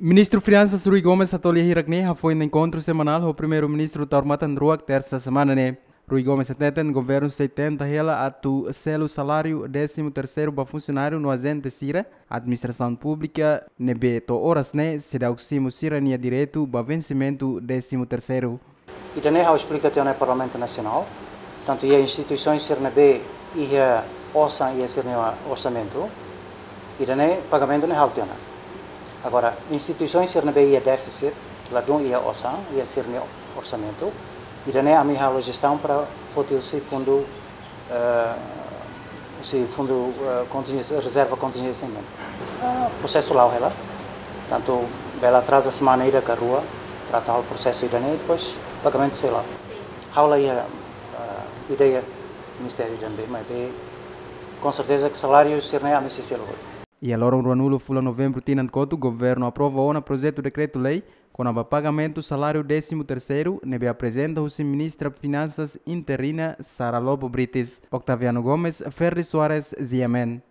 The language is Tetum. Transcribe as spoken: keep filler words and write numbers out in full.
Ministru Finansas Rui Gomes hato'o lia hirak-ne'e hafoin enkontru semanál ho Primeiru-Ministru Taur Matan Ruak, tersa semana ne'e. Rui Gomes hateten governu sei tenta hela atu selu saláriu désimu terseiru ba funsionáriu no ajente sira administrasaun públika ne'ebé to'o oras ne'e seidauk simu sira-nia direitu ba vensimentu désimu terseiru. Ida-ne'e ha'u esplika tiha ona iha Parlamentu Nasionál, tantu iha instituisaun sira ne'ebé iha osan iha sira-nia orsamentu, ida-ne'e pagamentu ne'e halo tiha ona. Agora, instituisaun sira ne'ebé iha défisit, ladún iha osan iha sira-nia orsamentu, ida-ne'e ami halo jestaun para foti husi fundu, eh, husi fundu, eh, kontinjénsia, rezerva kontinjénsia nian. Ah, prosesu la'o hela. Tantu bele atraza semana ida ka rua, para atu halo prosesu ida-ne'e, depois pagamentu sei la'o. Ha'u la iha, ah, ideia ministériu ida-ne'ebé, maibé, com certeza que saláriu sira-ne'e ami sei selu hotu. Iha loron ruanulu fulan Novembru tinan kotuk, governu aprova ona projetu dekretu-lei kona-ba pagamentu saláriu désimu terseiru, ne'ebé aprezenta husi Ministra Finansas interina Sara Lobo Brites. Octaviano Gomes, Ferdi Soares, G M N.